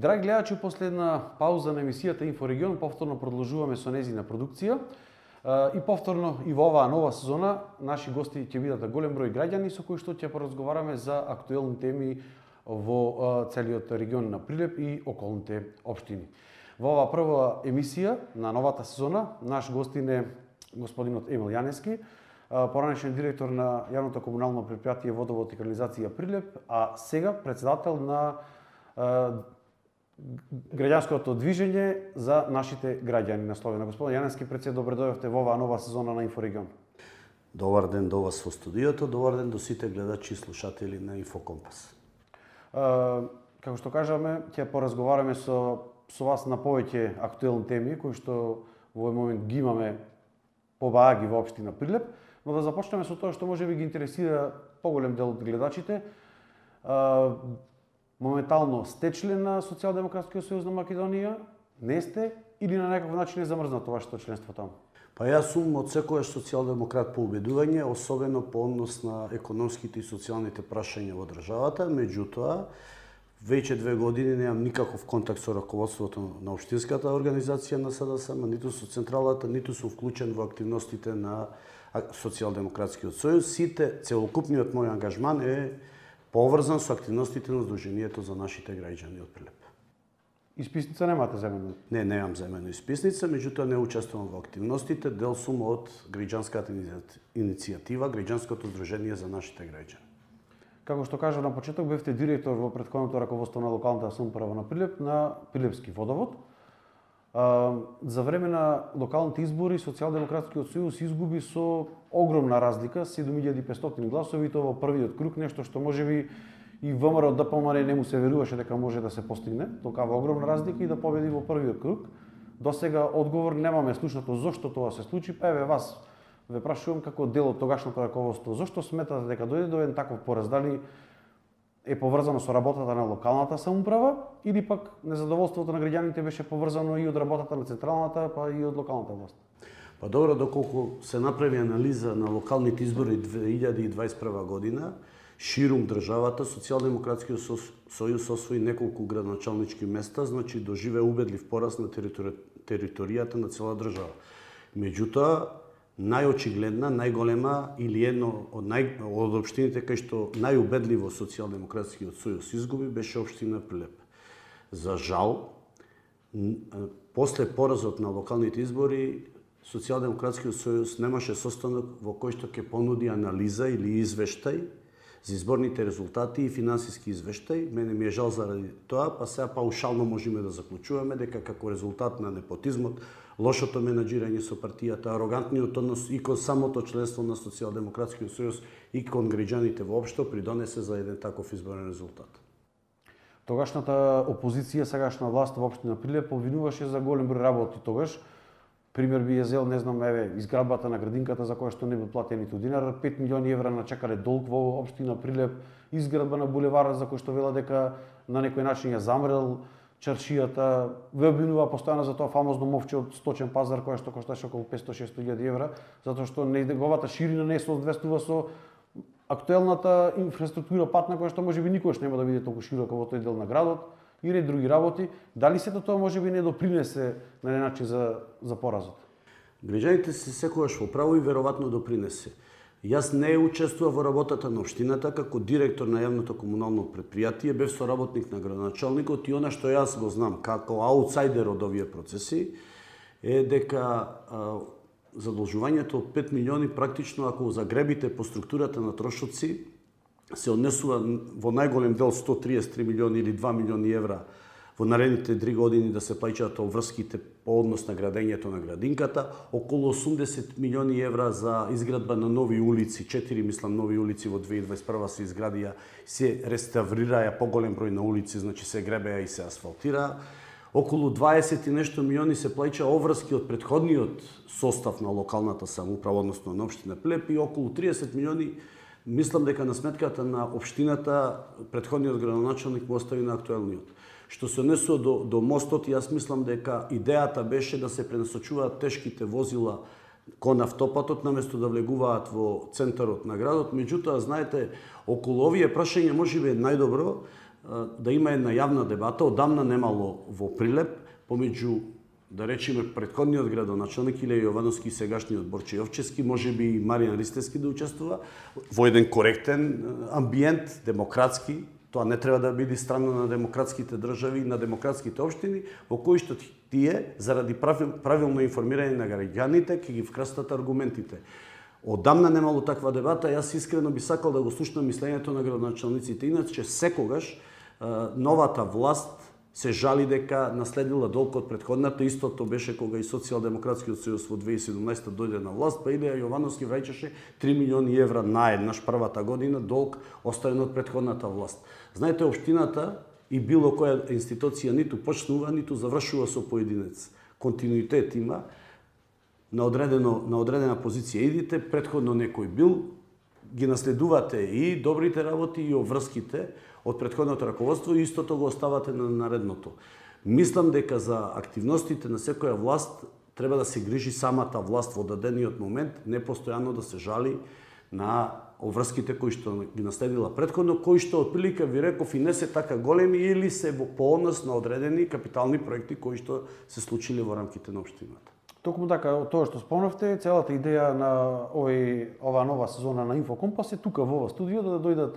Драги гледачи, после една пауза на емисијата Инфорегион, повторно продолжуваме со незина продукција. И повторно и во оваа нова сезона наши гости ќе бидат голем број граѓани со кои што ќе поразговараме за актуелни теми во целиот регион на Прилеп и околните општини. Во оваа прва емисија на новата сезона наш гостин е господинот Емил Јаневски, поранешен директор на јавното комунално претпријатие Водовод и канализација Прилеп, а сега претседател на граѓанското движење за нашите граѓани на Словенија. Господин Јаневски, пред добре дојдовте во оваа нова сезона на Инфорегион. Добар ден до вас во студиото, добар ден до сите гледачи и слушатели на Инфокомпас. Како што кажаме, ќе поразговараме со вас на повеќе актуелни теми кои што во овој момент ги имаме побааги во општина Прилеп, но да започнеме со тоа што можеби ги интересира поголем дел од гледачите. Моментално сте член на Социјалдемократскиот сојуз на Македонија, не сте или на некаков начин е замрзнато вашето членство таму? Па јас сум од секојаш социјалдемократ по убедување, особено по однос на економските и социјалните прашања во државата, меѓутоа веќе 2 години немам никаков контакт со раководството на општинската организација на СДСМ, ниту со централата, ниту сум вклучен во активностите на Социјалдемократскиот сојуз. Целокупниот мој ангажман е поврзан со активностите на Сдруженијето за нашите граѓани од Прилеп. Исписница немате земено? Не, немам земено исписница, меѓутоа не учествувам во активностите, дел сум од граѓанската иницијатива, граѓанското Сдружение за нашите граѓани. Како што кажа на почеток, бевте директор во претходното раководство на локалната самоуправа на Прилеп, на Прилепски водовод. За време на локалните избори Социјалдемократскиот сојуз изгуби со огромна разлика, 7500 гласови, и тоа во првиот круг, нешто што можеби и ВМРО ДПМН не му се веруваше дека може да се постигне, толкава огромна разлика и да победи во првиот круг. До сега одговор немаме слушнато зошто тоа се случи, па еве вас ве прашувам како дел од тогашното раководство, зошто сметате дека дојде до еден таков пораз, дали е поврзано со работата на локалната самоуправа или пак незадоволството на граѓаните беше поврзано и од работата на централната, па и од локалната власт? Па добро, доколку се направи анализа на локалните избори 2021 година, ширум државата, Социјалдемократскиот сојуз освои неколку градоначалнички места, значи доживе убедлив пораст на територијата на цела држава. Меѓутоа, најочигледна, најголема или едно од општините кај што најубедливо Социјалдемократскиот сојуз изгуби беше општина Прилеп. За жал, после поразот на локалните избори, Социјалдемократскиот сојуз немаше состанок во кој што ќе понуди анализа или извештај за изборните резултати и финансиски извештај. Мене ми е жал заради тоа, па сега паушално можеме да заклучуваме дека како резултат на непотизмот, лошото менаџирање со партијата, арогантниот однос и кон самото членство на Социјалдемократскиот сојуз и кон граѓаните воопшто придонесе за еден таков изборен резултат. Тогашната опозиција, сегашна власт во општина Прилеп обвинуваше за голем број работи тогаш. Пример би ја зел, не знам, еве, изградбата на градинката за која што не би платен ниту динар, 5 милиони евра начекале долг во општина Прилеп, изградба на булеварот за кој што вела дека на некој начин ја замрел чаршијата, ве обвинува постојано за тоа фамозно мовче од сточен пазар која што кошташе околу 500-600 илјади евра, затоа што неговата ширина не се соодветствува со актуелната инфраструктура патна која што можеби никогаш нема да биде толку широка во тој дел на градот и ред други работи. Дали сето тоа можеби не допринесе на еден начин за поразот? Граѓаните се секогаш во право и веројатно допринесе. Јас не учествував во работата на општината како директор на јавното комунално претпријатие, бев соработник на градоначалникот и она што јас го знам како аутсайдер од овие процеси е дека задолжувањето од 5 милиони практично ако загребите по структурата на трошоци се однесува во најголем дел 133 милиони или 2 милиони евра во наредните 3 години да се плаќаат обврските по однос на градењето на градинката, околу 80 милиони евра за изградба на нови улици, 4 мислам нови улици во 2021 се изградија, се реставрираја поголем број на улици, значи се гребеа и се асфалтираа. Околу 20 и нешто милиони се плаќа обврски од претходниот состав на локалната самоуправа, односно на општина Прилеп, и околу 30 милиони мислам дека на сметката на општината претходниот градоначалник го остави на актуелниот. Што се однесува до мостот, јас мислам дека идејата беше да се пренасочуваат тешките возила кон автопатот наместо да влегуваат во центарот на градот. Меѓутоа, знаете, околу овие прашања можеби е најдобро да има една јавна дебата, одамна немало во Прилеп, помеѓу, да речеме, претходниот градоначелник Илија Јовановски и сегашниот Борче Јовчевски, можеби и Маријан Ристевски да учествува, во еден коректен амбиент, демократски. Тоа не треба да биде странно на демократските држави и на демократските општини, во кои што тие, заради правилно информирање на граѓаните, ќе ги вкрастат аргументите. Одамна немало таква дебата, јас искрено би сакал да го слушнам мислењето на градоначелниците. Иначе секогаш новата власт се жали дека наследила долг од претходната. Истото беше кога и Социјалдемократскиот сојуз во 2017 дојде на власт, па Илија Јовановски враќаше 3 милиони евра наеднаш првата година долг оставен од претходната власт. Знаете, општината и било која институција ниту почнува, ниту завршува со поединец. Континуитет има, на одредена позиција идите, претходно некој бил, ги наследувате и добрите работи и обврските од претходното раководство и истото го оставате на наредното. Мислам дека за активностите на секоја власт треба да се грижи самата власт во дадениот момент, не постојано да се жали на обврските кои што ги наследила претходно, кои што отприлика ви реков и не се така големи или се во пооднос на одредени капитални проекти кои што се случиле во рамките на општината. Токму така, тоа што спомнавте, целата идеја на ова нова сезона на Инфокомпас е тука во ова студио да дојдат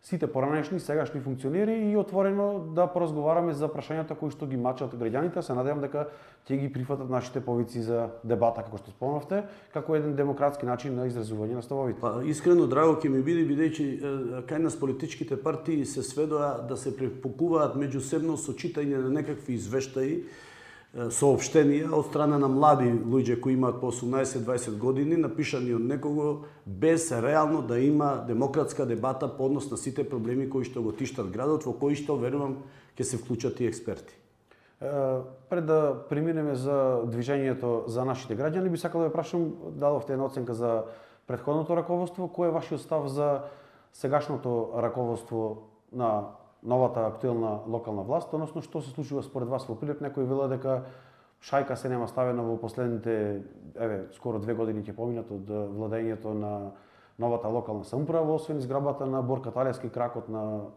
сите поранешни и сегашни функционери и отворено да поразговараме за прашањата кои што ги мачат граѓаните. Се надевам дека ќе ги прифатат нашите повици за дебата, како што спомнавте, како еден демократски начин на изразување на ставовите. Па, искрено драго ќе ми биде, бидејќи кај нас политичките партии се сведоа да се препукуваат меѓусебно со читање на некакви извештаи, соопштенија од страна на млади луѓе кои имаат по 18-20 години, напишани од некого, без реално да има демократска дебата по однос на сите проблеми кои што го тиштат градот, во кои што, верувам, ќе се вклучат и експерти. Пред да преминеме за движењето за нашите граѓани, би сакал да ве прашам, дадовте една оценка за претходното раководство, кој е вашиот став за сегашното раководство на новата актуелна локална власт, односно што се случува според вас во Прилеп? Некој вела дека шајка се нема ставена во последните, скоро 2 години ќе поминат од владењето на новата локална самоуправа, освен изграбата на Борка Талевски кракот на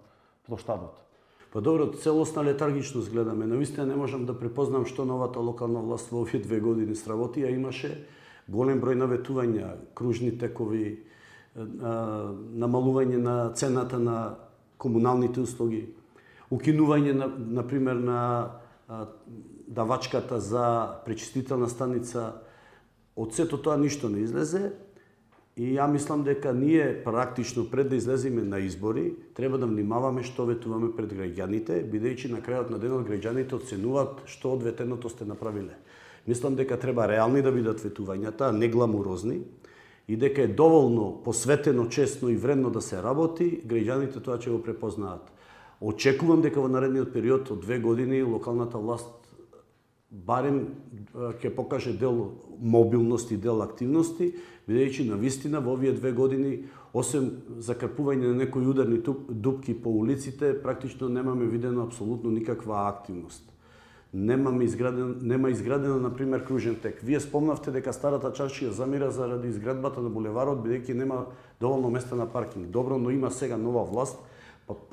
плоштадот. Па добро, целосна летаргичност гледаме. Навистина не можам да препознам што новата локална власт во овие 2 години сработи, а имаше голем број наветувања, кружни текови, намалување на цената на комуналните услуги, укинување например на давачката за пречистителна станица. Од сето тоа ништо не излезе и ја мислам дека ние практично пред да излеземе на избори треба да внимаваме што ветуваме пред граѓаните, бидејќи на крајот на денот граѓаните оценуваат што од ветеното сте направиле. Мислам дека треба реални да бидат ветувањата, а не гламурозни, и дека е доволно посветено, честно и вредно да се работи, граѓаните тоа ќе го препознаат. Очекувам дека во наредниот период од 2 години локалната власт барем ќе покаже дел мобилности, дел активности, бидејќи навистина во овие 2 години, освен закрпување на некои ударни дупки по улиците, практично немаме видено апсолутно никаква активност. Нема изградено, например, кружен тек. Вие спомнавте дека старата чаршија замира заради изградбата на булеварот, бидејќи нема доволно места на паркинг. Добро, но има сега нова власт,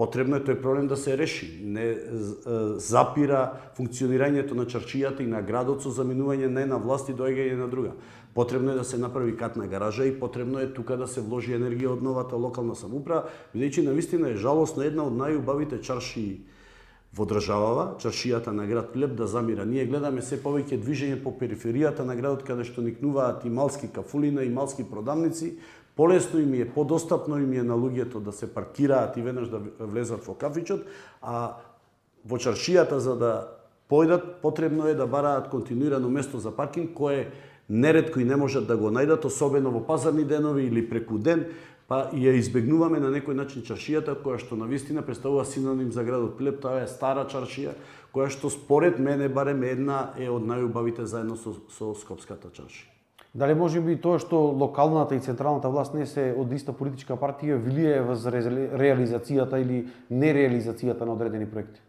потребно е тој проблем да се реши. Не запира функционирањето на чаршијата и на градот со заминување на една власт и доаѓање на друга. Потребно е да се направи катна гаража и потребно е тука да се вложи енергија од новата локална самоуправа, бидејќи навистина е жалосно една од најубавите чаршии во државава, чаршијата на град Прилеп да замира. Ние гледаме се повеќе движење по периферијата на градот, каде што никнуваат и малски кафулина и малски продавници. Полесно им е, подостапно им е на луѓето да се паркираат и веднаш да влезат во кафичот, а во чаршијата за да појдат потребно е да бараат континуирано место за паркинг, кое неретко и не можат да го најдат, особено во пазарни денови или преку ден, па и ја избегнуваме на некој начин чаршијата, која што навистина представува синоним за градот Прилеп. Тоа е стара чаршија, која што според мене барем една е од најубавите заедно со Скопската чаршија. Дали може би тоа што локалната и централната власт не се од иста политичка партија влијае врз реализацијата или нереализацијата на одредени проекти?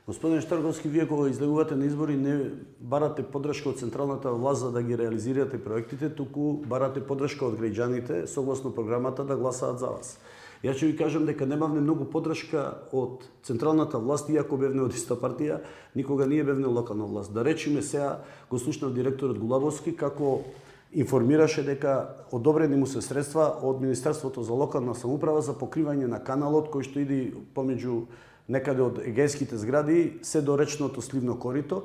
Господин Штарковски, вие кога излегувате на избори не барате поддршка од централната власт за да ги реализирате проектите, туку барате поддршка од граѓаните согласно програмата да гласаат за вас. Јас ќе ви кажам дека немавме многу поддршка од централната власт, иако бевне од иста партија, никога ние бевне локална власт. Да речеме сега го слушнав директорот Гулабовски како информираше дека одобрени му се средства од Министерството за локална самоуправа за покривање на каналот кој што иде помеѓу некаде од егејските згради се до речното сливно корито.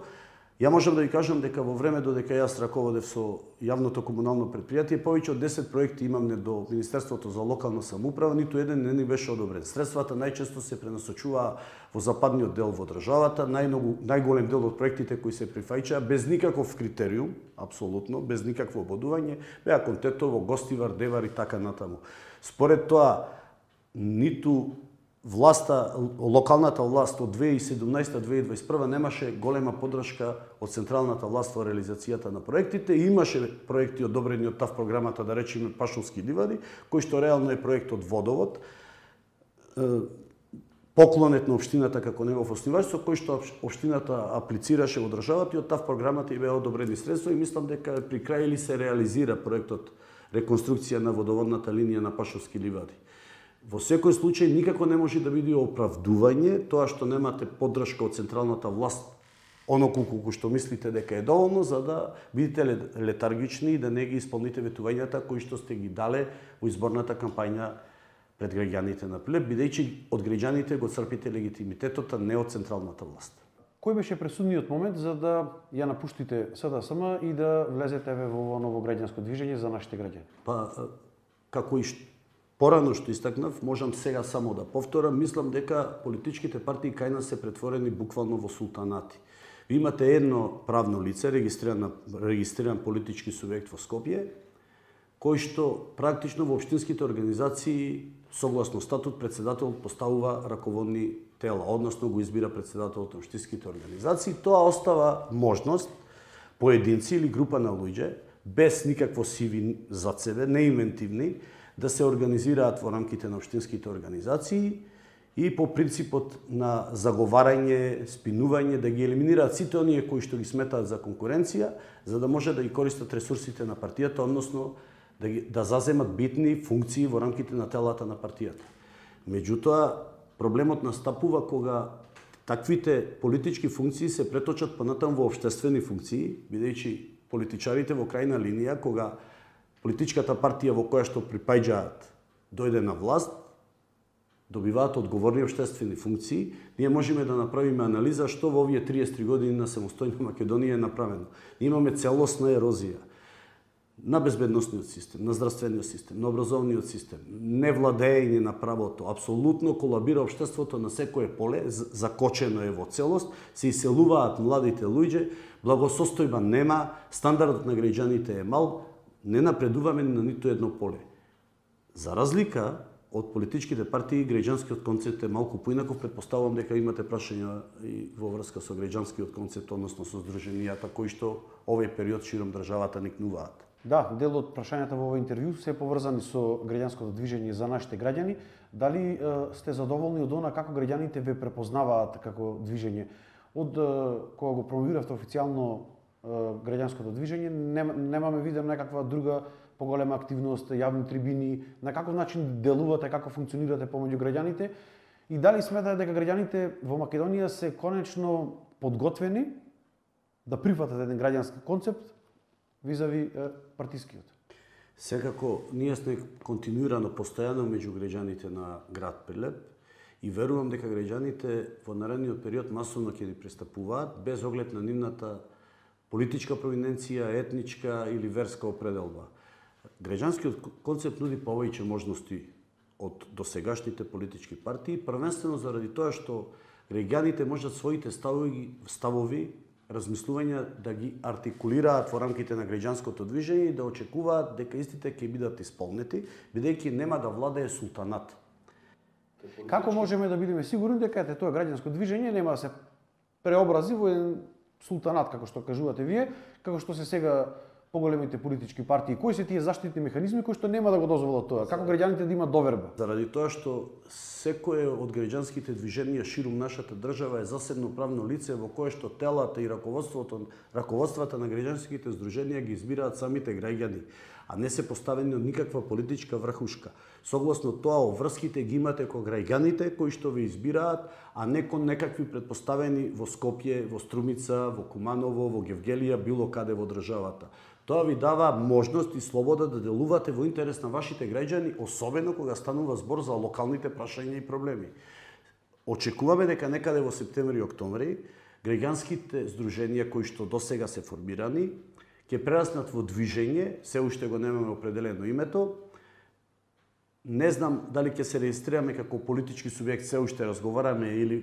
Ја можам да ви кажам дека во време додека јас раководев со јавното комунално предпријатие, повеќе од 10 проекти имамне до Министерството за локална самоуправа, ниту еден не ни беше одобрен. Средствата најчесто се пренасочуваа во западниот дел во државата, најголем дел од проектите кои се прифаќаа без никаков критериум, апсолутно, без никакво ободување, беа кон Тетово, Гостивар, Девар и така натаму. Според тоа, ниту власта, локалната власт од 2017-2021 немаше голема поддршка од централната власт во реализацијата на проектите. Имаше проекти одобрени од ТАВ програмата, да речеме Пашовски ливади, кој што реално е проект од водовод, поклонет на општината како негов оснивач, со кој што општината аплицираше во државата и од ТАВ програмата и беа одобрени средства и мислам дека при крај или се реализира проектот реконструкција на водоводната линија на Пашовски ливади. Во секој случај никако не може да биде оправдување тоа што немате поддршка од централната власт, колку што мислите дека е доволно за да бидете летаргични и да не ги исполните ветувањата кои што сте ги дале во изборната кампања пред граѓаните на Прилеп, бидејќи од граѓаните го црпите легитимитетот, а не од централната власт. Кој беше пресудниот момент за да ја напуштите СДСМ и да влезете во ово ново граѓанско движење за нашите граѓани? Па, како и порано што истакнав, можам сега само да повторам, мислам дека политичките партии кај нас се претворени буквално во султанати. Ви имате едно правно лице, регистриран политички субјект во Скопје, кој што практично во општинските организации, согласно статут, председателот поставува раководни тела, односно го избира председателот на општинските организации. Тоа остава можност поединци или група на луѓе, без никакво CV зад себе, неинвентивни, да се организираат во рамките на општинските организации и по принципот на заговарање, спинување, да ги елиминираат сите оние кои што ги сметаат за конкуренција, за да може да ги користат ресурсите на партијата, односно да заземат битни функции во рамките на телата на партијата. Меѓутоа, проблемот настапува кога таквите политички функции се преточат понатаму во општествени функции, бидејќи политичарите во крајна линија, кога политичката партија во која што припаѓаат дојде на власт, добиваат одговорни општествени функции, ние можеме да направиме анализа што во овие 33 години на самостојна Македонија е направено. Ние имаме целосна ерозија на безбедносниот систем, на здравствениот систем, на образовниот систем, невладење на правото, апсолутно колабира општеството на секое поле, закочено е во целост, се иселуваат младите луѓе, благосостојба нема, стандардот на граѓаните е мал, не напредуваме на ниту едно поле. За разлика од политичките партии, граѓанскиот концепт е малку поинаков, претпоставувам дека имате прашања и во врска со граѓанскиот концепт, односно со здруженијата кои што овој период широм државата никнуваат. Да, дел од прашањата во овој интервју се поврзани со граѓанското движење за нашите граѓани. Дали сте задоволни од она како граѓаните ве препознаваат како движење? Од кога го промовиравте официјално граѓанското движење, немаме виден некаква друга поголема активност, јавни трибини, на каков начин делувате, како функционирате помеѓу граѓаните и дали сметате дека граѓаните во Македонија се конечно подготвени да прифатат еден граѓански концепт визави партискиот? Секако, ние сме континуирано, постојано меѓу граѓаните на град Прилеп и верувам дека граѓаните во наредниот период масовно ќе ни пристапуваат без оглед на нивната политичка провиненција, етничка или верска определба. Граѓанскиот концепт нуди повеќе можности од досегашните политички партии, првенствено заради тоа што граѓаните можат своите ставови, размислувања да ги артикулираат во рамките на граѓанското движење и да очекуваат дека истите ќе бидат исполнети, бидејќи нема да владее султанат. Како можеме да бидеме сигурни дека тоа граѓанско движење нема да се преобрази во еден султанат, како што кажувате вие, како што се сега поголемите политички партии? Кои се тие заштитни механизми кои што нема да го дозволат тоа? Како граѓаните да имат доверба? Заради тоа што секое од граѓанските движенија ширум нашата држава е засебно правно лице во кое што телата и раководствата на граѓанските здруженија ги избираат самите граѓани, а не се поставени од никаква политичка врхушка. Согласно тоа, врските ги имате кон граѓаните кои што ве избираат, а не кон некакви претпоставени во Скопје, во Струмица, во Куманово, во Гевгелија, било каде во државата. Тоа ви дава можност и слобода да делувате во интерес на вашите граѓани, особено кога станува збор за локалните прашања и проблеми. Очекуваме дека некаде во септември и октомври граѓанските здруженија кои што досега се формирани ќе прераснат во движење, се уште го немаме определено името. Не знам дали ќе се регистрираме како политички субјект, се уште разговараме, или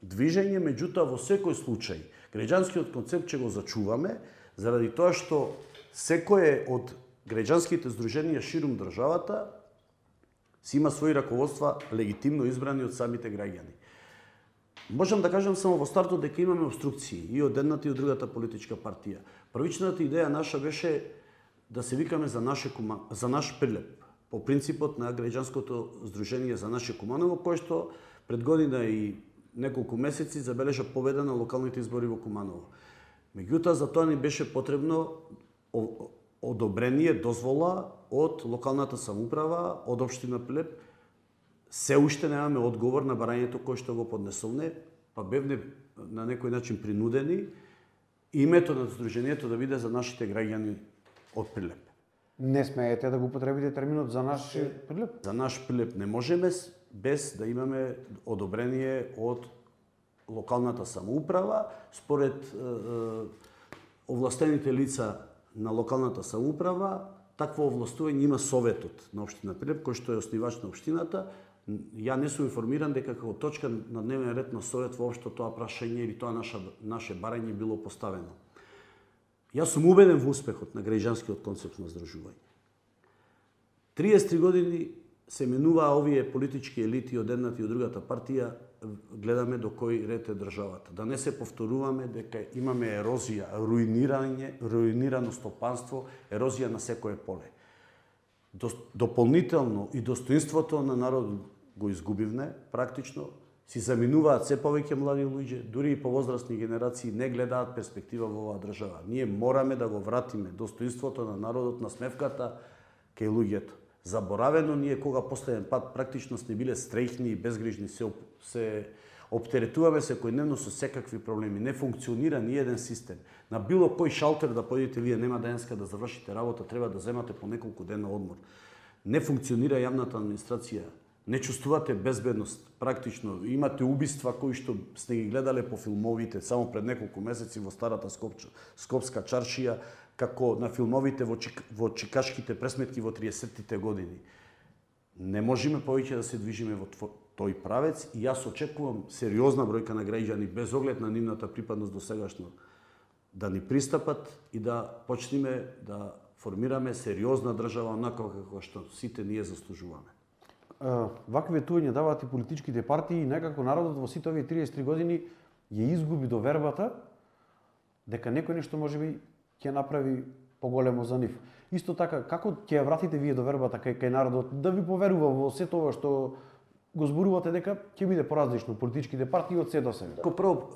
движење, меѓутоа во секој случај граѓанскиот концепт ќе го зачуваме, заради тоа што секое од граѓанските здруженија ширум државата си има своји раководства легитимно избрани од самите граѓани. Можам да кажам само во стартот дека имаме обструкции и од едната и од другата политичка партија. Првичната идеја наша беше да се викаме за наш Прилеп, по принципот на граѓанското здружение за наше Куманово, кое што пред година и неколку месеци забележа победа на локалните избори во Куманово. Меѓутоа, за тоа ни беше потребно одобрение, дозвола од локалната самоуправа, од општина Прилеп. Се уште немаме одговор на барањето кое што го поднесовне, па бевне на некој начин принудени името на здружението да биде за нашите граѓани од Прилеп. Не смеете да го употребите терминот за наш Прилеп? За наш Прилеп не можеме без да имаме одобрение од локалната самоуправа. Според овластените лица на локалната самоуправа, такво овластување има Советот на општина Прилеп, кој што е основач на општината. Ја не сум информиран дека како точка на дневен ред на Совет воопшто тоа прашање или тоа наше барање било поставено. Јас сум убеден во успехот на граѓанскиот концепт на здружување. 33 години се менуваа овие политички елити од едната и од другата партија, гледаме до кој ред е државата. Да не се повторуваме дека имаме ерозија, руинирано стопанство, ерозија на секое поле. Дополнително и достоинството на народот го изгубивме, практично, си заминуваат се повеќе млади луѓе, дури и повозрастни генерации не гледаат перспектива во оваа држава. Ние мораме да го вратиме достоинството на народот, на смевката кај луѓето. Заборавено ние кога последен пат практично сме биле стрејхни и безгрижни, се оптеретуваме секојдневно со секакви проблеми. Не функционира ни еден систем. На било кој шалтер да појдете вие, нема денеска да завршите работа, треба да земате по неколку дена одмор. Не функционира јавната администрација. Не чувствувате безбедност, практично. Имате убиства кои што сте ги гледале по филмовите само пред неколку месеци во старата Скопска чаршија, како на филмовите во чикашките пресметки во 30-тите години. Не можеме повеќе да се движиме во тој правец и јас очекувам сериозна бројка на граѓани без оглед на нивната припадност до сегашно да ни пристапат и да почнеме да формираме сериозна држава онаква како што сите ние заслужуваме. Вакви ветувања даваат и политичките партии и некако народот во сите овие 33 години ја изгуби довербата дека некој нешто можеби ќе направи поголемо за нив. Исто така, како ќе ја вратите вие довербата кај народот да ви поверува во сето ова што го зборувате дека ќе биде поразлично политичките партии од се до сега? Како прво,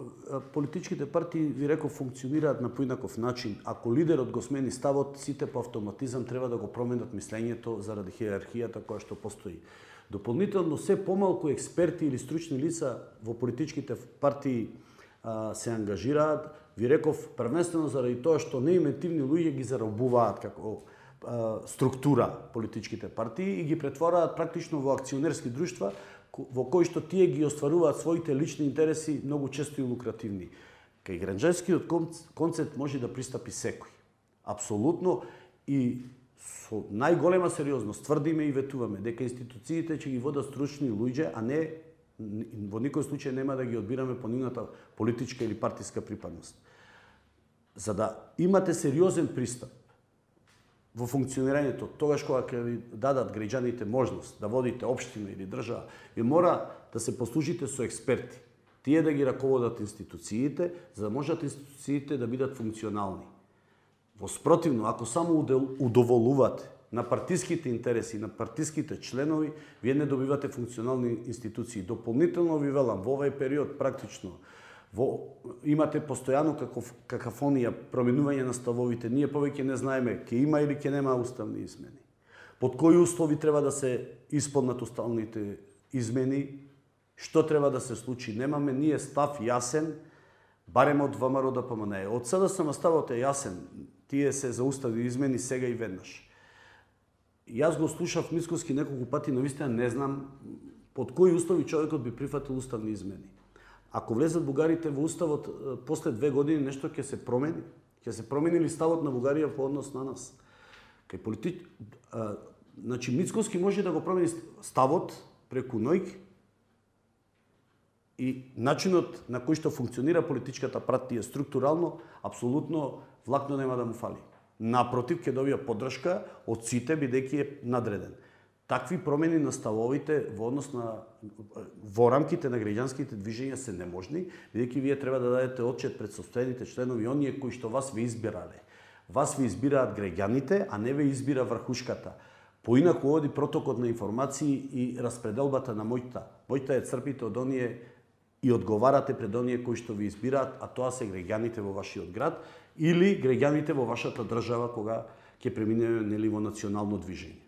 политичките партии, ви реков, функционираат на поинаков начин. Ако лидерот го смени ставот, сите по автоматизам треба да го променат мислењето заради хиерархијата која што постои. Дополнително, се помалку експерти или стручни лица во политичките партии се ангажираат. Ви реков, првенствено заради тоа што неиметивни луѓе ги заробуваат како структура политичките партии и ги претвораат практично во акционерски друштва во кои што тие ги остваруваат своите лични интереси многу често и лукративни. Кај граѓанскиот концепт може да пристапи секој. Апсолутно, и со најголема сериозност тврдиме и ветуваме дека институциите ќе ги водат стручни луѓе, а не во никој случај нема да ги одбираме по нивната политичка или партиска припадност. За да имате сериозен пристап во функционирањето, тогаш кога ќе ви дадат граѓаните можност да водите општина или држава, ви мора да се послужите со експерти. Тие да ги раководат институциите, за да можат институциите да бидат функционални. Воспротивно, ако само удоволувате на партиските интереси, на партиските членови, вие не добивате функционални институции. Дополнително ви велам, во овај период практично Имате постојано какафонија, променување на ставовите. Ние повеќе не знаеме ќе има или ќе нема уставни измени. Под кои услови треба да се исполнат уставните измени, што треба да се случи. Немаме ние став јасен, барем од ВМРО ДПМНЕ. Од СДСМ ставот е јасен. Тие се за уставни измени сега и веднаш. Јас го слушав Мицкоски неколку пати, но вистина не знам под кои услови човекот би прифатил уставни измени. Ако влезат бугарите во уставот после 2 години, нешто ќе се промени. Ќе се промени ли ставот на Бугарија по однос на нас? Значи Мицкоски може да го промени ставот преку ноќ и начинот на кој што функционира политичката партија структурално, апсолутно влакно нема да му фали. Напротив, ќе добија поддршка од сите бидејќи е надреден. Такви промени на ставовите во рамките на граѓанските движења се неможни, бидејќи вие треба да дадете отчет пред состојаните членови, оние кои што вас ве избирале. Вас ве избираат граѓаните, а не ве избира врхушката. Поинаку оди протокот на информации и распределбата на моќта. Моќта е црпите од оние и одговарате пред оние кои што ви избираат, а тоа се граѓаните во вашиот град или граѓаните во вашата држава кога ќе преминеме нели во национално движење.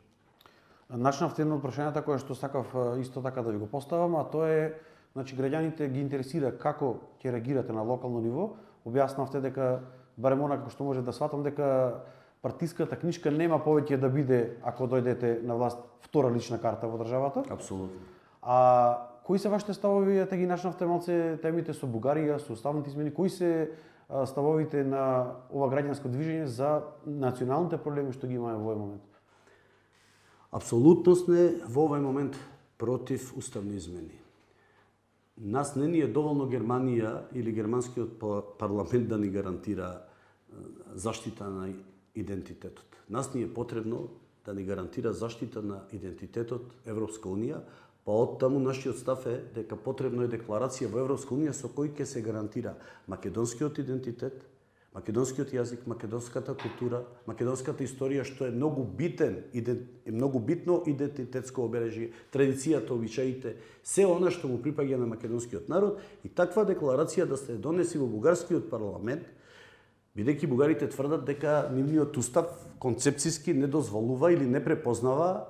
Начнавте едно од прашањата кое што сакав исто така да ви го поставам, а тоа е, значи граѓаните ги интересира како ќе реагирате на локално ниво. Објаснавте дека барем онака што може да сватам дека партиската книжка нема повеќе да биде ако дојдете на власт втора лична карта во државата. Апсолутно. А кои се вашите ставови, те ги начнавте малце темите со Бугарија, со уставните измени, кои се ставовите на ова граѓанско движење за националните проблеми што ги имаме во овој момент? Апсолутно сме во овој момент против уставни измени. Нас не ни е доволно Германија или германскиот парламент да ни гарантира заштита на идентитетот. Нас ни е потребно да ни гарантира заштита на идентитетот Европска Унија, па оттаму нашиот став е дека потребно е декларација во Европска Унија со кој ќе се гарантира македонскиот идентитет, македонскиот јазик, македонската култура, македонската историја, што е многу битно идентитетско обележје, традицијата, обичаите, се она што му припаѓа на македонскиот народ, и таква декларација да се донеси во бугарскиот парламент, бидејќи бугарите тврдат дека нивниот устав концепцијски не дозволува или не препознава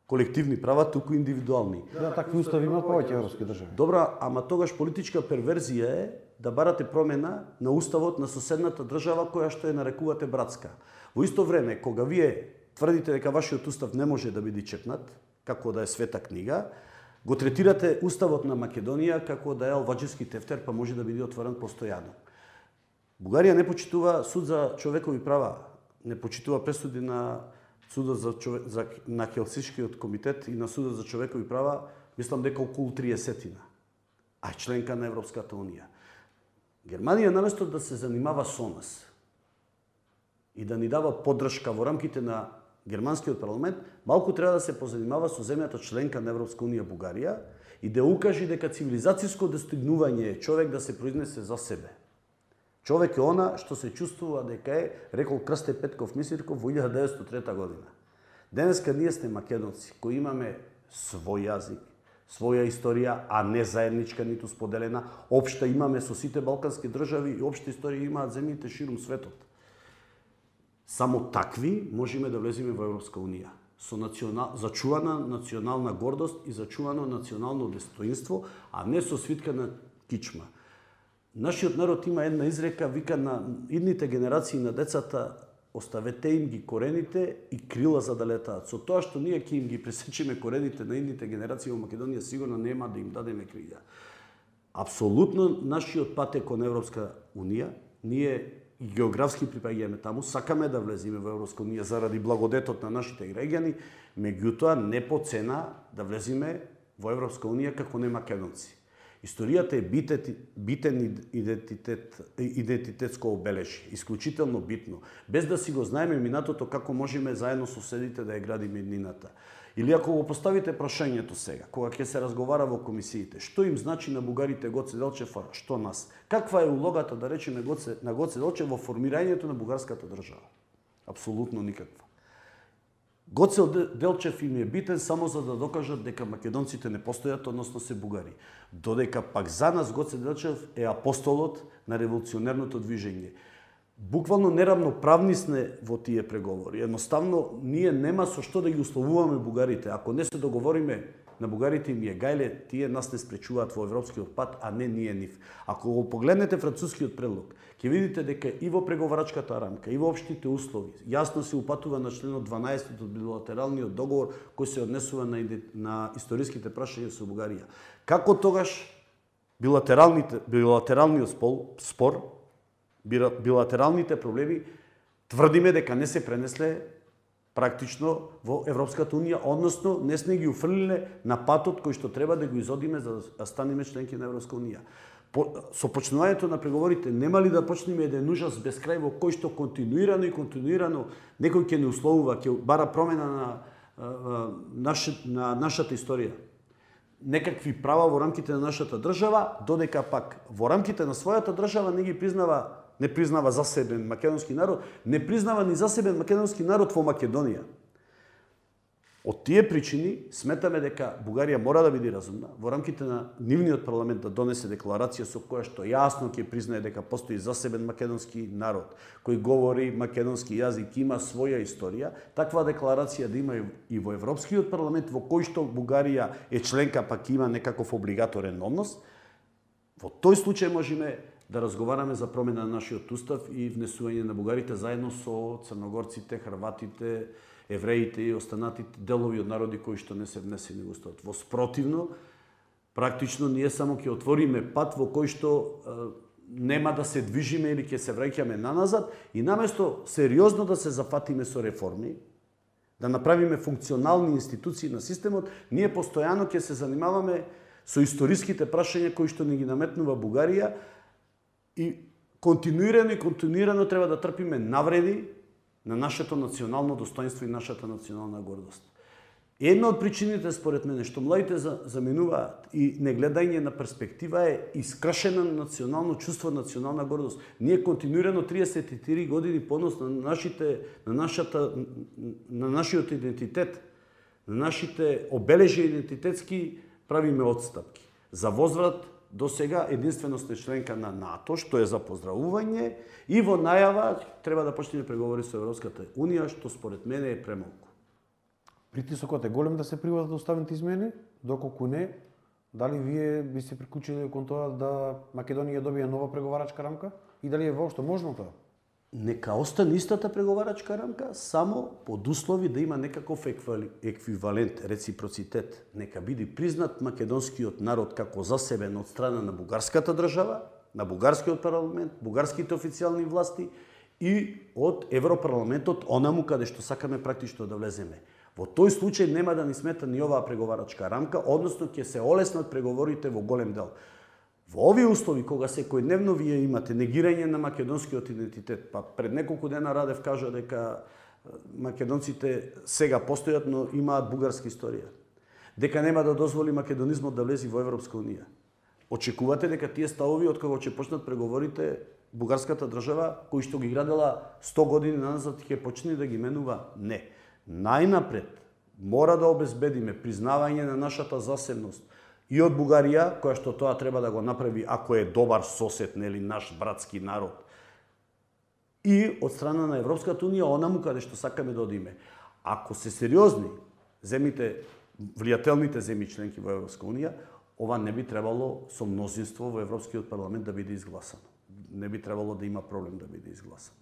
колективни права, туку индивидуални. Да, такви устави имаат повеќе европски држави. Добра, ама тогаш политичка перверзија е да барате промена на уставот на соседната држава која што ја нарекувате братска. Во исто време, кога вие тврдите дека вашиот устав не може да биде чепнат, како да е света книга, го третирате уставот на Македонија како да е алваџевски тефтер, па може да биде отворен постојано. Бугарија не почитува суд за човекови права, не почитува пресуди на судот на Хелсиншкиот комитет и на судот за човекови права, мислам дека околу 30-тина, а е членка на Европската Унија. Германија наместо да се занимава со нас и да ни дава поддршка во рамките на германскиот парламент, малку треба да се позанимава со земјата членка на Европска Унија Бугарија и да укаже дека цивилизацијско достигнување е човек да се произнесе за себе. Човек е она што се чувствува дека е, рекол Крсте Петков Мисирков во 1903 година. Денеска ние сме македонци кои имаме свој јазик, своја историја, а не заедничка ниту споделена. Општа имаме со сите балкански држави и општа историја имаат земјите ширум светот. Само такви можеме да влеземе во Европска Унија. Со зачувана национална гордост и зачувано национално достоинство, а не со свитка на кичма. Нашиот народ има една изрека, вика на идните генерации на децата, оставете им ги корените и крила за да летаат. Со тоа што ние ќе им ги пресечеме корените на идните генерации во Македонија, сигурно нема да им дадеме крила. Апсолутно нашиот пат е кон Европска Унија. Ние и географски припаѓаме таму, сакаме да влеземе во Европска Унија заради благодетот на нашите граѓани, меѓутоа не по цена да влеземе во Европска Унија како не македонци. Историјата е битен идентитетско обележје, исклучително битно. Без да си го знаеме минатото, како можеме заедно со соседите да ја градиме иднината. Или ако го поставите прашањето сега, кога ќе се разговара во комисиите, што им значи на бугарите Гоце Делчев, а што нас? Каква е улогата, да речеме, на Гоце Делчев во формирањето на бугарската држава? Апсолутно никаква. Гоце Делчев им е битен само за да докажат дека македонците не постојат, односно се бугари. Додека пак за нас Гоце Делчев е апостолот на револуционерното движење. Буквално неравноправни сме во тие преговори. Едноставно, ние нема со што да ги условуваме бугарите. Ако не се договориме, на бугарите им е гајле, тие нас не спречуваат во европскиот пат, а не ние нив. Ако го погледнете францускиот предлог, ќе видите дека и во преговарачката рамка, и во општите услови, јасно се упатува на членот 12 од билатералниот договор кој се однесува на историските прашања со Бугарија. Како тогаш билатералниот спор, билатералните проблеми, тврдиме дека не се пренесле практично во Европската Унија, односно не сме ги уфрлиле на патот кој што треба да го изодиме за да станеме членки на Европска Унија. Со почнувањето на преговорите нема ли да почнеме еден ужас без крај во кој што континуирано некој ќе не условува, ќе бара промена на нашата историја. Некакви права во рамките на нашата држава, додека пак во рамките на својата држава не признава засебен македонски народ, не признава ни засебен македонски народ во Македонија. Од тие причини сметаме дека Бугарија мора да биде разумна во рамките на нивниот парламент да донесе декларација со која што јасно ќе признае дека постои засебен македонски народ кој говори македонски јазик, има своја историја. Таква декларација да има и во Европскиот парламент во кој што Бугарија е членка, пак има некаков облигаторен однос. Во тој случај можеме да разговараме за промена на нашиот устав и внесување на бугарите заедно со црногорците, хрватите, евреите и останатите делови од народи кои што не се внесени во уставот. Во спротивно, практично ние само ќе отвориме пат во кој што нема да се движиме или ќе се враќаме наназад и наместо сериозно да се зафатиме со реформи, да направиме функционални институции на системот, ние постојано ќе се занимаваме со историските прашања кои што ни ги наметнува Бугарија и континуирано треба да трпиме навреди на нашето национално достоинство и нашата национална гордост. Една од причините, според мене, што младите заменуваат и негледање на перспектива е искршено национално чувство, национална гордост. Ние континуирано 34 години понос на нашиот идентитет, на нашите обележи идентитетски правиме отстапки. За возврат до сега единствено сте членка на НАТО, што е за поздравување, и во најава треба да почнеме преговори со Европската Унија, што според мене е премалку. Притисокот е голем да се приватат уставните измени, доколку не, дали вие би се приклучили кон тоа да Македонија добие нова преговарачка рамка и дали е воопшто можно тоа? Нека остане истата преговарачка рамка, само под услови да има некаков еквивалент, реципроцитет. Нека биде признат македонскиот народ како засебен од страна на бугарската држава, на бугарскиот парламент, бугарските официјални власти и од Европарламентот, онаму каде што сакаме практично да влеземе. Во тој случај нема да ни смета ни оваа преговарачка рамка, односно ќе се олеснат преговорите во голем дел. Во овие услови, кога секојдневно вие имате негирање на македонскиот идентитет, па пред неколку дена Радев кажа дека македонците сега постојат, но имаат бугарска историја. Дека нема да дозволи македонизмот да влезе во Европска Унија. Очекувате дека тие ставови, од кога ќе почнат преговорите, бугарската држава, кои што ги градела 100 години назад, ќе почне да ги менува? Не. Најнапред мора да обезбедиме признавање на нашата засебност и од Бугарија, која што тоа треба да го направи ако е добар сосед, нели, наш братски народ. И од страна на Европската Унија, онаму каде што сакаме да одиме. Ако се сериозни земите, влијателните земји членки во Европска Унија, ова не би требало со мнозинство во Европскиот парламент да биде изгласано. Не би требало да има проблем да биде изгласано.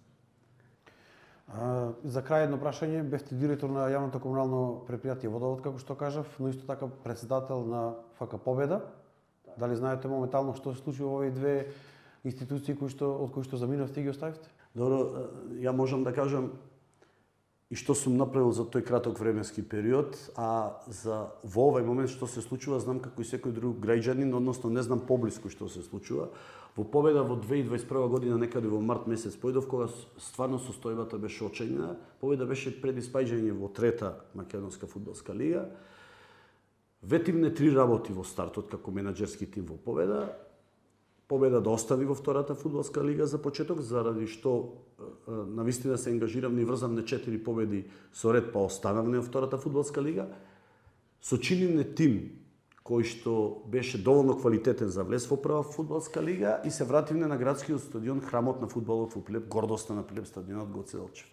За крај едно прашање, бевте директор на јавното комунално предпријатие Водовод, како што кажав, но исто така председател на ФК Победа. Дали знаете моментално што се случи во овие две институции од кои што заминавте и ги оставивте? Добро, ја можам да кажам и што сум направил за тој краток временски период, а во овој момент што се случува, знам како и секој друг граѓанин, односно не знам поблиску што се случува. Во Победа во 2021 година, некаде во март месец појдов, кога стварно состојбата беше очајна. Победа беше пред испаѓање во трета македонска фудбалска лига. Ветивне 3 работи во стартот како менаџерски тим во Победа. Победа да остави во втората фудбалска лига за почеток, заради што навистина се ангажиравме и врзавме 4 победи со ред, па останавме во втората фудбалска лига. Сочинивме тим кој што беше доволно квалитетен за влез во прва фудбалска лига и се вративме на градскиот стадион, храмот на фудбалот во Прилеп, гордоста на Прилеп, стадионот Гоце Делчев.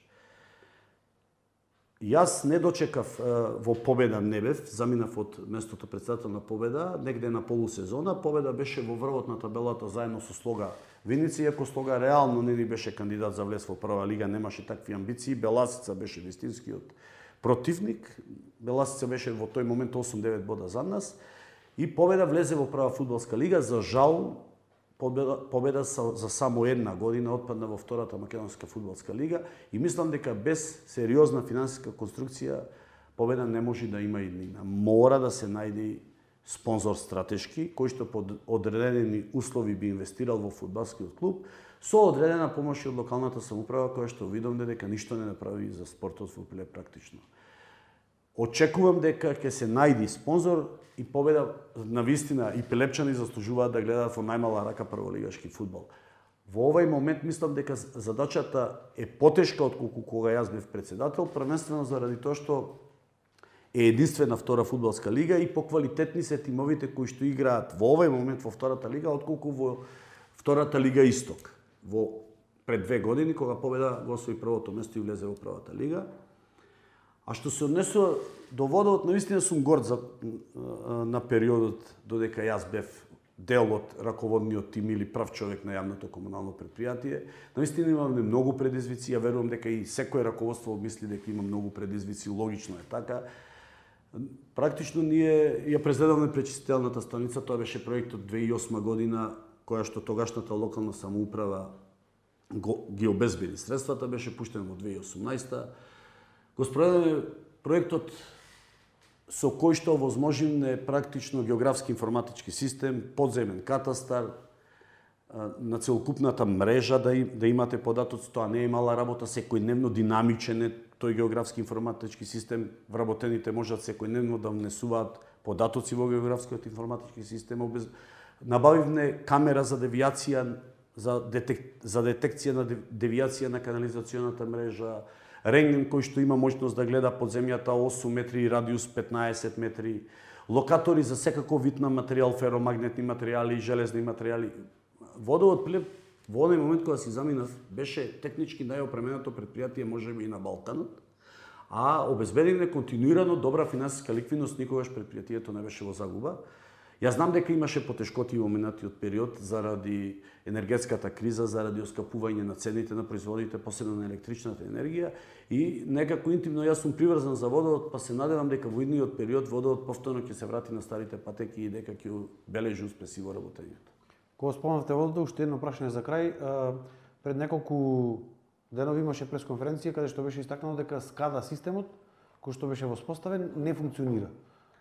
Јас не дочекав во Победа не бев, заминав од местото председател на Победа, негде на полусезона. Победа беше во врвот на табелата заедно со Слога Виница, иако Слога реално не ни беше кандидат за влез во прва лига, немаше такви амбиции. Беласица беше вистинскиот противник. Беласица беше во тој момент 8-9 бода за нас. И Победа влезе во прва фудбалска лига. За жал, Победа за само една година отпадна во втората македонска фудбалска лига и мислам дека без сериозна финансиска конструкција Победа не може да има иднина. Мора да се најде спонзор стратешки кој што под одредени услови би инвестирал во фудбалскиот клуб со одредена помош од локалната самоуправа која што видовме дека ништо не направи за спортот во Прилеп практично. Очекувам дека ќе се најди спонзор и Победа навистина и пилепчани заслужуваат да гледаат во најмала рака прволигашки фудбал. Во овој момент мислам дека задачата е потешка отколку кога јас бев председател, првенствено заради тоа што е единствена втора фудбалска лига и поквалитетни се тимовите кои што играат во овој момент во втората лига отколку во втората лига Исток. Во пред 2 години кога Победа го освои првото место и влезе во првата лига. А што се однесува до водовод, навистина сум горд на периодот додека јас бев дел од раководниот тим или прав човек на јавното комунално предпријатие. Навистина имаме многу предизвици, ја верувам дека и секој раководство мисли дека има многу предизвици, логично е така. Практично ние ја презедавме пречистителната станица, тоа беше проектот 2008 година, која што тогашната локална самоуправа ги обезбеди средствата, беше пуштен во 2018. Го спроведеме проектот со кој што овозможивме практично географски информатички систем, подземен катастар, на целокупната мрежа да имате податоци, тоа не е мала работа, секојдневно динамичен е тој географски информатички систем, вработените можат секојдневно да внесуваат податоци во географскиот информатички систем. Набавивме камера за девијација, за детекција на девијација на канализационата мрежа, рентген кој што има можност да гледа под земјата 8 метри и радиус 15 метри, локатори за секаков вид на материјал, феромагнетни материјали, железни материјали. Водовод Прилеп во оној момент кога си заминав беше технички најопременото предпријатие можеби и на Балканот, а обезбедивме континуирано добра финансиска ликвидност, никогаш предпријатието не беше во загуба. Јас знам дека имаше потешкоти во минатиот период заради енергетската криза, заради оскапување на цените на производите, посебно на електричната енергија и некако интимно јас сум приврзан за водовод, па се надевам дека во идниот период водовод повторно ќе се врати на старите патеки и дека ќе бележи успеси во работењето. Кога спомнавте водовод, уште едно прашање за крај. Пред неколку денови имаше пресконференција каде што беше истакнато дека SCADA системот кој што беше воспоставен не функционира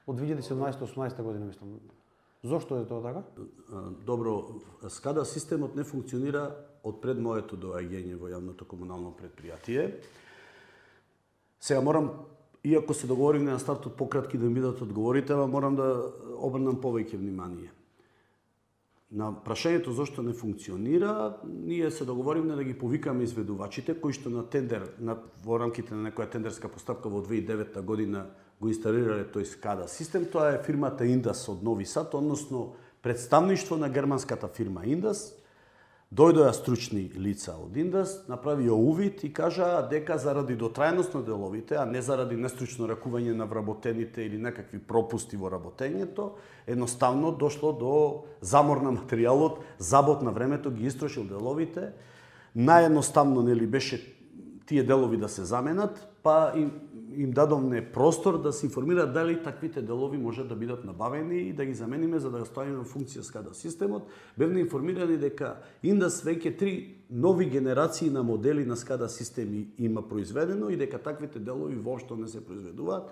од 2017-18 година, мислам. Зошто е тоа така? Добро, SCADA системот не функционира од пред моето доаѓање во јавното комунално предпријатие. Сега морам, иако се договоривме на стартот пократки да ми бидат одговорите, морам да обрнам повеќе внимание. На прашањето зошто не функционира, ние се договоривме да ги повикаме изведувачите кои што на тендер, во рамките на некоја тендерска постапка во 2009 година го инсталирале тој SCADA систем. Тоа е фирмата Индас од Нови Сад, односно представништво на германската фирма Индас. Дојдоа стручни лица од Индас, направија увид и кажаа дека заради дотрајност на деловите, а не заради нестручно ракување на вработените или некакви пропусти во работењето, едноставно дошло до замор на материјалот, забот на времето, ги истрошил деловите. Наједноставно нели беше тие делови да се заменат, па им дадовме простор да се информираат дали таквите делови можат да бидат набавени и да ги замениме за да ставиме во функција SCADA системот. Бевме информирани дека Индас веќе 3 нови генерации на модели на SCADA системи има произведено и дека таквите делови воопшто не се произведуваат.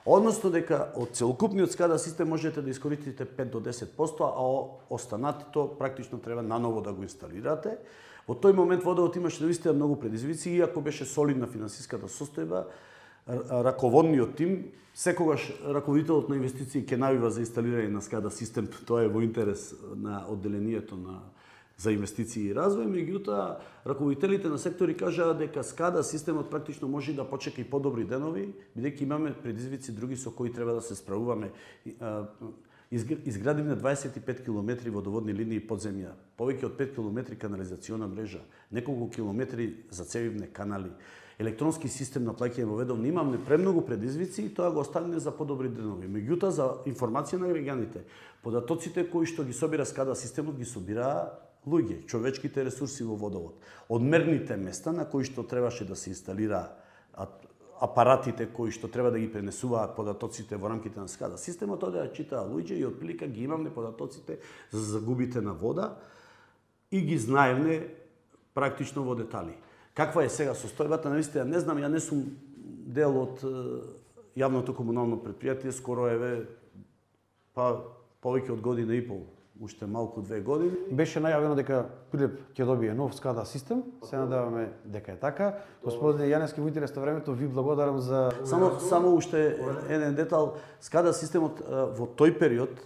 Односно дека од целокупниот SCADA систем можете да искористите 5 до 10%, а останатото практично треба наново да го инсталирате. Во тој момент водовод имаше навистина многу предизвици, иако беше солидна финансиската состојба, раководниот тим, секогаш раководителот на инвестиции ќе навива за инсталирање на SCADA систем, тоа е во интерес на одделението на за инвестиции и развој, меѓутоа раководителите на сектори кажаа дека SCADA системот практично може да почека и подобри денови, бидејќи имаме предизвици други со кои треба да се справуваме. Изградивме 25 километри водоводни линии под земја, повеќе од 5 километри канализациона мрежа, неколку километри зацевивне канали, електронски систем на плаќање во ведовни, имаме премногу предизвици и тоа го оставиме за подобри денови. Меѓутоа, за информација на граѓаните, податоците кои што ги собира SCADA системот ги собираа луѓе, човечките ресурси во водовод. Од мерните места на кои што требаше да се инсталира апаратите кои што треба да ги пренесуваат податоците во рамките на SCADA системот, одеа читаа луѓе и отприлика ги имавме податоците за загубите на вода и ги знаевме практично во детали. Каква е сега состојбата, навистина не знам, ја не сум дел од јавното комунално предпријатие, скоро повеќе од година и пол, уште малку 2 години. Беше најавено дека Прилеп ќе добие нов SCADA систем, се надеваме дека е така. Господине Јаневски, во интерес на времето ви благодарам за... Само уште еден детал, SCADA системот во тој период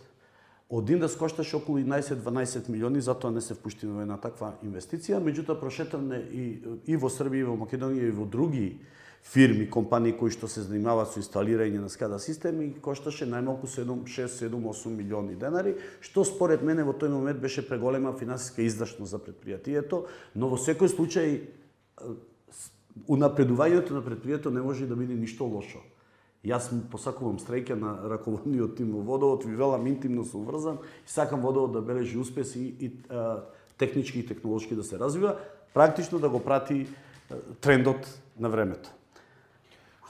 од Индас кошташе околу 11-12 милиони, затоа не се впуштиме во една таква инвестиција, меѓутоа прошетавме и во Србија, и во Македонија, и во други фирми, компании кои што се занимаваат со инсталирање на SCADA системи, кошташе најмалку 6-7-8 милиони денари, што според мене во тој момент беше преголема финансиска издашност за предпријатието, но во секој случај унапредувањето на предпријатието не може да биде ништо лошо. Јас посакувам среќа на раководниот тим во водовод, ви велам интимно сум врзан и сакам водовод да бележи успеси и технички и технолошки да се развива, практично да го прати трендот на времето.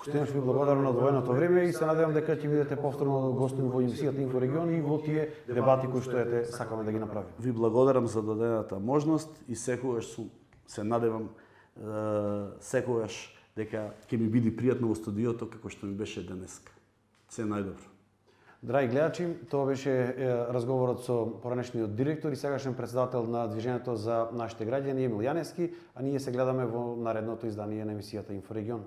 Уште ви благодарам на одвоеното време и се надевам дека ќе бидете повторно гостин во емисијата Инфорегион и во тие дебати кои што сакаме да ги направиме. Ви благодарам за дадената можност и секогаш се надевам секогаш дека ќе ми биде пријатно во студиото како што ми беше денеска. Се најдобро. Драги гледачи, тоа беше разговорот со поранешниот директор и сегашен председател на Движењето за нашите граѓани Емил Јаневски, а ние се гледаме во наредното издание на емисијата Инфорегион.